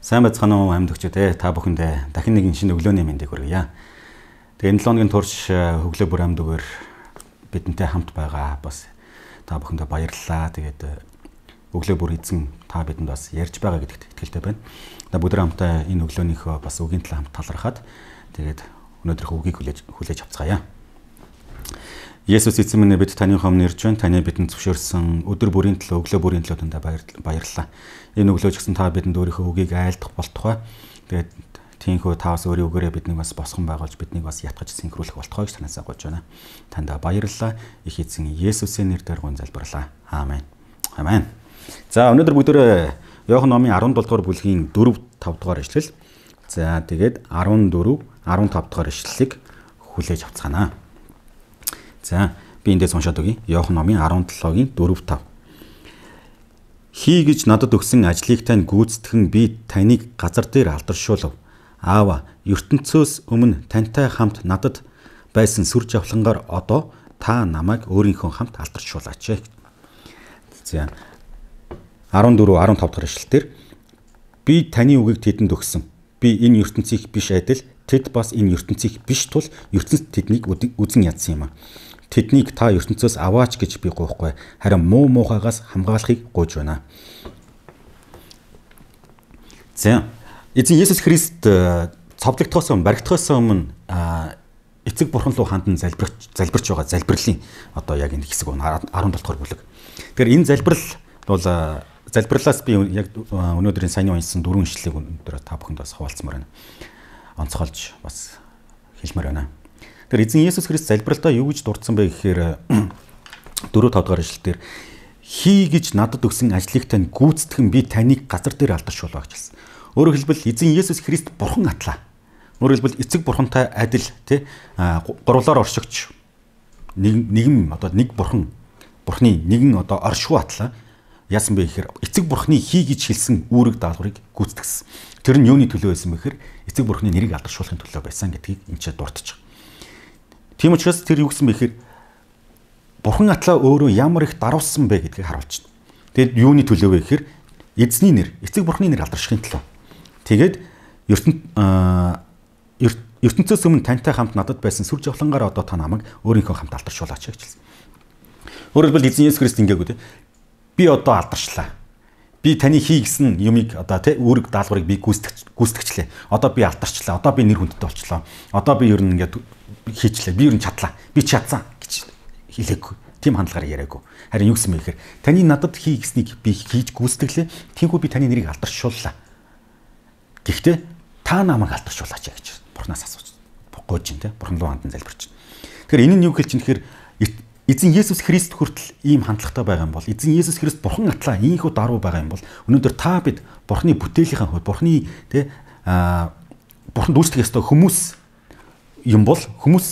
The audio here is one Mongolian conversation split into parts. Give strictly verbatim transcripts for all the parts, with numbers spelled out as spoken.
Сайн байцгаана уу амьд өгчөө та бүхэндээ дахин нэгэн шинэ өглөөний мэндийг хүргье. Тэгээ энэ лоогийн турш хөглөө бүр амьд өгөр бидэнтэй хамт байгаа бас та бүхэндээ баярлалаа. Тэгээд өглөө бүр эзэн та бидэнд бас ярьж байгаа гэдэгт итгэлтэй байна. Та бүгд хамтаа энэ өглөөнийхөө бас үгийн талаа хамт талархаад тэгээд өнөөдрийнхөө үгийг хүлээж хүлээж авцгаая. Есүс эзэн минь бид таны өмнө ирж байна. Таны бидэнд зөвшөөрсөн өдөр бүрийн төлөө өглөө бүрийн төлөө танд баярлалаа. Энэ өглөө ч гэсэн та бидэнд өөрийнхөө үгийг айлдах болтугай. Тэгээд тийхүү таавас өөрийн үгээрээ биднийг бас босгон байгуулж биднийг бас ятгаж синхруулах болтугай гэж танаас гуйж байна. Танд баярлалаа. Их эзэн Есүсийн нэрээр гон залбирлаа. Аамен. Аамен. За өнөөдөр бүгдөө Иохан номын арван долоо дугаар бүлгийн дөрөв тав дугаар ишлэл. За тэгээд арван дөрөв, арван тав дугаар ишлэлийг хүлээж авцгаана. За би эндээс уншаад өгье. Иохан номын арван долоогийн дөрөв тав. Хий гэж надад өгсөн ажлыг тань гүйцэтгэн би таныг газар дээр алдаршуулв. Аава, ертөнцөөс өмнө тантай хамт надад байсан сүр жавхлангаар одоо та намайг өөрийнхөө хамт алдаршуулаач. За арван дөрөв, арван тав дахь ишлэлээр би таны үгийг тэдэнд өгсөн. Би энэ ертөнцийг биш адил тэд бас энэ ертөнцийг биш тул ертөнцид тэднийг үзэн ядсан юм а. Тэднийг та ертөнцөөс аваач гэж би гуйхгүй. Харин муу муухайгаас хамгаалахыг гуйж байна. За эзэн Есүс Христ цовдлогдохоос өмнө, баригдахоос өмнө эцэг бурхан руу хандан залбирч залбирч байгаа залбирлын одоо яг энэ хэсэг арван долоо дахь бүлэг. Тэгэхээр энэ залбирал бол залбирлаас би яг өнөөдрийн саяны уншсан дөрвөн ишлэлийг өнөөдөр та бүхэнд бас хуваалцмаар байна. Онцгойлж бас хэлмээр байна. Тэгэхээр эзэн Есүс Христ залбиралтаа юу гэж дурдсан бэ гэхээр дөрөв тав дахь ишлэлээр хий гэж надад өгсөн ажлыг тань гүйцэтгэн би таныг газар дээр алдаршуулаа гэж хэлсэн. Өөрөөр хэлбэл эзэн Есүс Христ бурхан атлаа. Өөрөөр хэлбэл эцэг бурхантай адил тий гурвлаар оршигч нэг нэгэн одоо нэг бурхан бурхны нэгэн одоо оршуу атлаа. Яасан бэ гэхээр эцэг бурхны хий гэж хэлсэн үүрэг даалгаврыг гүйцэтгсэн. Тэр нь юуны төлөө байсан бэ гэхээр эцэг бурхны нэрийг алдаршуулахын төлөө байсан гэдгийг энэ ч дурдж байгаа. Тийм учраас тэр юу гэсэн бэ гэхээр бурхан атлаа өөрөө ямар их даруулсан бэ гэдгийг харуулж байна. Тэгэд юуны төлөө вэ гэхээр эзний нэр, эцэг бурхны нэр алдаршихын төлөө. Тэгээд ертөнцөөс өмнө тантай хамт надад байсан сүр жавхлангаар одоо та намайг өөрийнхөө хамт алдаршуулаач гэж хэлсэн. Өөрөөр хэлбэл эзэн Есүс Христ ингээгүү те. Би одоо алдарчлаа. Би таны хий гэсэн юмыг одоо те үүрэг даалгаврыг би гүйцэтгэж гүйцэтгчлээ. Одоо би алдарчлаа. Одоо би нэр хүндтэй болчлоо. Одоо би ер нь ингээд хийчлээ. Би ер нь чадлаа. Би чадсан гэж хэлээгүй. Тийм хандлагаар яриаггүй. Харин юу гэсэн бэ гэхээр таны надад хий гэснийг би хийж гүйцэтгэлээ. Тиймгүй би таны нэрийг алдаршууллаа. Гэхдээ та намайг алдаршуулаач гэж Бурханаас асууж гуйж ин те. Бурхан руу хандан залбирч. Тэгэхээр энэ нь юу хэлж ин гэхээр эзэн Есүс Христ хүртэл ийм хандлагатай байгаа юм бол эзэн Есүс Христ бурхан атлаа ийхүү даруй байгаа юм бол өнөөдөр та бид бурхны бүтээлийнхаа хувьд бурхны те бурханд үйлчлэх ёстой хүмүүс юм бол хүмүүс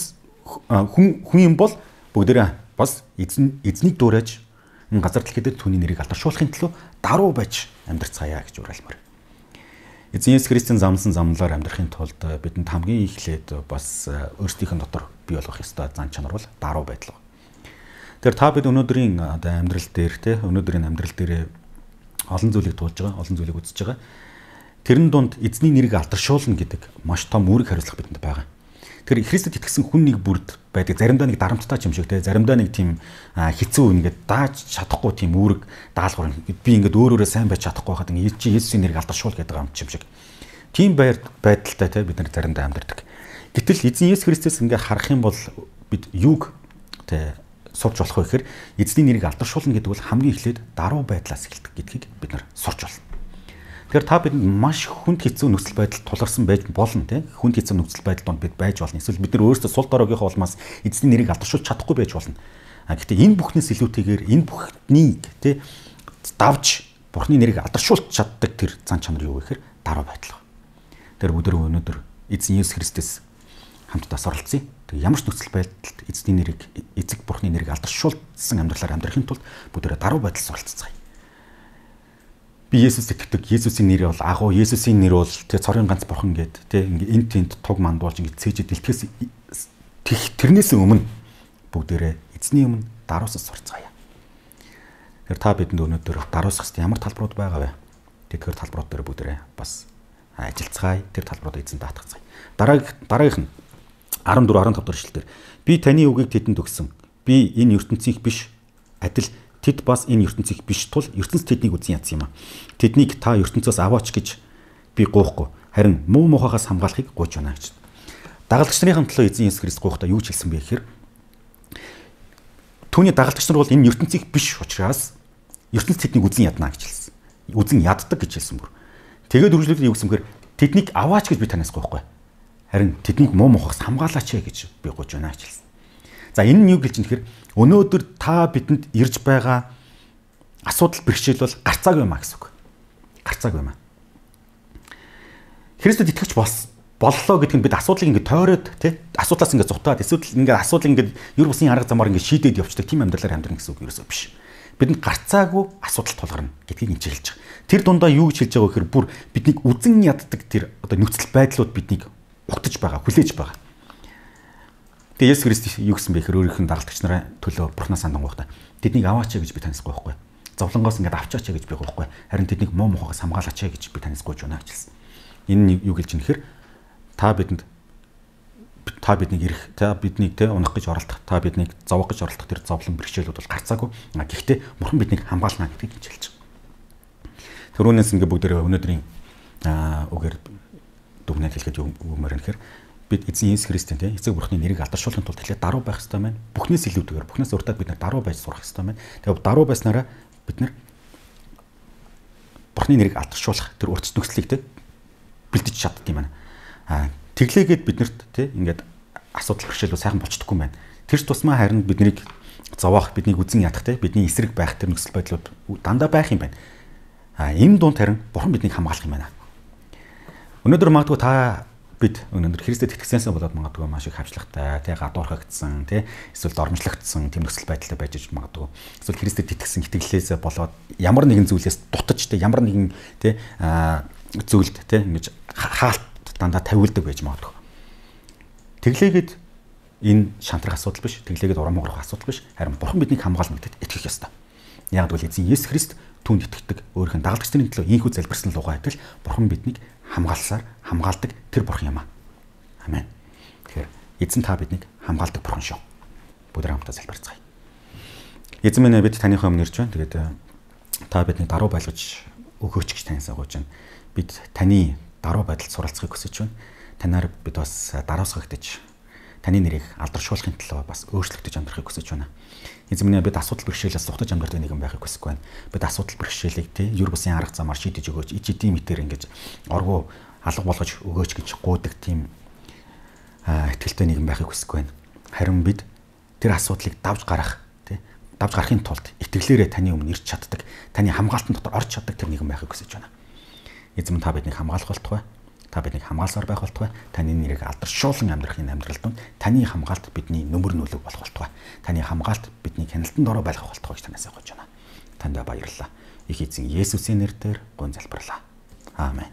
хүн хүн юм бол бүгдээрээ бас эзэн эзнийг дуурайж энэ газар дэлхийд түүний нэрийг алдаршуулахын төлөө даруй байж амьдрцгаая гэж уриалмаар. Эзэн Есүс Христийн замлсан замлаар амьдрахын тулд бидэнд хамгийн эхлээд бас өөрсдийнх нь дотор бий болгох ёстой зан чанар бол даруй байдал. Тэгэхээр та бид өнөөдрийн одоо амьдрал дээр те өнөөдрийн амьдрал дээр олон зүйлийг туулж байгаа, олон зүйлийг үзэж байгаа. Тэрэн дунд эзний нэрийг алдаршуулна гэдэг маш том үүрэг хариуцлага бидэнд байгаа. Тэгэхээр Христэд итгэсэн хүн нэг бүрд байдаг. Заримдаа нэг дарамттай юм шиг те, заримдаа нэг тийм хэцүү ингээд дааж чадахгүй тийм үүрэг даалгавар. Би ингээд өөрөөрөө сайн байж чадахгүй байхад ингээд чи Есүсийн нэрийг алдаршуул гэдэг юм шиг. Тийм байдалтай те бид нар заримдаа амьдардаг. Гэтэл эзэн Есүс Христос ингээд харах юм бол бид юуг те сурч болох вэ гэхээр эзний нэрийг алдаршуулна гэдэг бол хамгийн эхлээд даруй байдлаас эхэлдэг гэдгийг бид нар сурч болно. Тэгэхээр та бидэнд маш хүнд хэцүү нөхцөл байдалд тулгарсан байж болно тийм хүнд хэцүү нөхцөл байдалд бид байж болно. Эсвэл бид нар өөрсдөө сул дорогийнхоо улмаас эзний нэрийг алдаршуулж чадахгүй байж болно. А гэхдээ энэ бүхнээс илүүтэйгээр энэ бүхнийг тийм давж бурхны нэрийг алдаршуулж чаддаг тэр зан чанар юу вэ гэхээр даруй байдал. Тэр бүгд өнөөдөр эзэн Есүс Христос хамтдаа оролцъё. Тэг ямар ч нөхцөл байдалд эзний нэрийг эцэг бурхны нэрийг алдаршуулсан амьдралаар амьдрахын тулд бүгдээрээ даруй байдалд оролццгаая. би Есүст итгэдэг. Есүсийн нэр бол агуу, Есүсийн нэр бол тэ цорын ганц бурхан гэд тэ ингээ эн тент туг мандуулж ингээ цээжэд илтгэс тэрнээс өмнө бүгдээрээ эзний өмнө даруусас сурцгаая. Тэр та бидэнд өнөөдөр даруусах ямар талбарууд байгаа вэ? Тэгэхээр талбарууд дээр бүгдээрээ бас ажиллацгаая. Тэр талбаруудыг эзэн даатгацгаая. Дарааг дараагийнх нь арван дөрөв арван тавь дахь эшлэлдэр би таны үгийг тэдэнд өгсөн. Би энэ ертөнцийнх биш адил тэд бас энэ ертөнцийнх биш тул ертөнц тэднийг үзэн ядсан юм а. Тэднийг та ертөнцөөс аваач гэж би гоохгүй. Харин муу мухагаас хамгаалахыг гуйж байна гэж. Дагалдагч нарын төлөө эзэн Есүс Христ гуйхдаа юу ч хэлсэн бэ гэхээр түүний дагалдагч нар бол энэ ертөнцийнх биш учраас ертөнц тэднийг үзэн ядна гэж хэлсэн. Үзэн яддаг гэж хэлсэн бүр. Тэгээд үргэлжлүүлээд юу гэсэн бэхээр тэднийг аваач гэж би танаас гоохгүй. Харин тэднийг муу мухагаас хамгаалаач гэж би гуйж байна гэж хэлсэн. За энэ нь юу гэлж юм тэгэхээр өнөөдөр та бидэнд ирж байгаа асуудал бэрхшээл бол гарцааг юм а гэсэн үг. Гарцааг юм а. Христэд итгэж болсон боллоо гэдг нь бид асуудлыг ингээд тойроод тий асуудлаас ингээд зутаад эсвэл ингээд асуудал ингээд юр бусын арга замаар ингээд шийдээд явчихдаг тийм амьдралаар амьдрах гэсэн үг ерөөсөө биш. Бидэнд гарцаагүй асуудал тулгарна гэдгийг энэ хэлж байгаа. Тэр дундаа юу гэж хэлж байгаа вэ гэхээр бүр биднийг үзэн яддаг тэр одоо нөхцөл байдлууд биднийг угтаж байгаа, хүлээж байгаа. Тэгээ Есүс Христ юу гэсэн бэ гэхээр өөрийнх нь дагалдагч нарын төлөө Бурханаас сандангуйхтаа тэднийг аваач гэж би танаас гоохгүй. Зовлонгоос ингээд авчаач гэж би гоохгүй. Харин тэднийг муу мухагаас хамгаалаач гэж би танаас гоож байна гэж хэлсэн. Энэ нь юу гэлж юм нэхэр та бидэнд та биднийг ирэх, та биднийг те унах гэж оролдох, та биднийг зовох гэж оролдох тэр зовлон бэрхшээлүүд бол гарцаагүй. Гэхдээ Бурхан биднийг хамгаална гэдгийг хэлж байгаа. Төрөөнөөс ингээ бүгдээрээ өнөөдрийн үгээр дүгнэлт хэлэхэд өгмөр юм гэхээр бид эзэн Есүс Христийн те эцэг Бурханы нэрийг алдаршуулахын тулд эхлээд даруй байх хэрэгтэй байна. Бүхнээс илүүтэйгээр бүхнээс уртаад бид нар даруй байж сурах хэрэгтэй байна. Тэгээд даруй байснараа бид нар Бурханы нэрийг алдаршуулах тэр урт нөхцөлийг те бэлдэж чаддаг юм байна. Аа тэглээгээд биднэрт тий ингээд асуудал бэрхшээлүүд сайхан болцдоггүй юм байна. Тэр ч тусмаа харин биднийг зовоох, биднийг үзэн ядах тий бидний эсрэг байх тэр нөхцөл байдлууд дандаа байх юм байна. Аа энэ дунд харин Бурхан биднийг хамгаалах юм байна. Өнөөдөр магадгүй та бид өнөөдөр Христэд итгэсэнсээ болоод магадгүй маш их хавчлагтай, тий гадуурхагдсан, тий эсвэл дормжлогдсон тийм нөхцөл байдалтай байж магадгүй. Эсвэл Христэд итгэсэн итгэлээсээ болоод ямар нэгэн зүйлээс дутаж тий ямар нэгэн тий зүйлд тий ингэж хаалт дандаа тавиулдаг байж магадгүй. Тэглээгээд энэ шантрах асуудал биш, тэглээгээд урам уурах асуудал биш. Харин Бурхан биднийг хамгаална гэдэгт итгэх ёстой. Яг бол эзэн Есүс Христ түүнд итгэдэг, өөрийнх нь дагалдагчдын төлөө ийхүү залбирсан лугаа итгэл Бурхан биднийг хамгаалсаар хамгаалдаг тэр Бурхан юм аа. Амен. Тэгэхээр эзэн та биднийг хамгаалдаг Бурхан шүү. Бүгд хамтдаа залбирцгаая. Эзэн минь бид таныхаа өмнө ирж байна. Тэгээд та биднийг даруй байлгаж өгөөч гэж таньсаа гуйж байна. Бид таны даруй байдалд суралцахыг хүсэж байна. Танаар бид бас даруусгагдаж таны нэрийг алдаршуулахын төлөө бас өөрчлөгдөж амьдрахыг хүсэж байна. Эзэн минь бид асуудал бэрхшээлээс зугтаж амьдрах нэгэн байхыг хүсэхгүй байна. Бид асуудал бэрхшээлийг тий юр бусын арга замаар шийдэж өгөөч. Ич эдийн мэтэр ингэж оргуу алга болгож өгөөч гэж гуйдаг тийм итгэлтэй нэгэн байхыг хүсэхгүй байна. Харин бид тэр асуудлыг давж гарах тий давж гарахын тулд итгэлээрээ таны өмнө ирж чаддаг, таны хамгаалтан дотор орж чаддаг тэр нэгэн байхыг хүсэж байна. Эзэн минь та биднийг хамгаалах болтугай. Та биднийг хамгаалсаар байх болтугай. Таны нэрийг алдаршуулан амьдрах энэ амьдралд нь таны хамгаалт бидний нөмөр нөлөг болох болтугай. Таны хамгаалт бидний хяналтанд ороо байлгах болтугай гэж танаас гойж байна. Танд баярлалаа. Их эзэн Есүсийн нэрээр гон залбирлаа. Аамен.